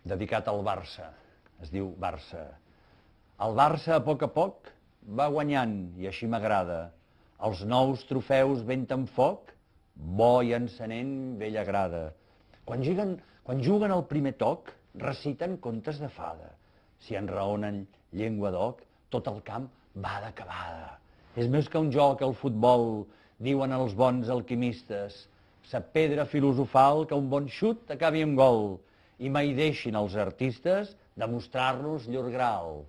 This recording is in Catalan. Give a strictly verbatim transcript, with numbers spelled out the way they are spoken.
dedicat al Barça. Es diu Barça. El Barça, a poc a poc, va guanyant, i així m'agrada. Els nous trofeus venten foc, bo i encenent vella grada. Quan juguen, quan juguen al primer toc, reciten contes de fada. Si enraonen llengua d'oc, tot el camp va d'acabada. És més que un joc, el futbol, diuen els bons alquimistes. Sa pedra filosofal que un bon xut acabi amb gol. I mai deixin els artistes demostrar-nos llur grau.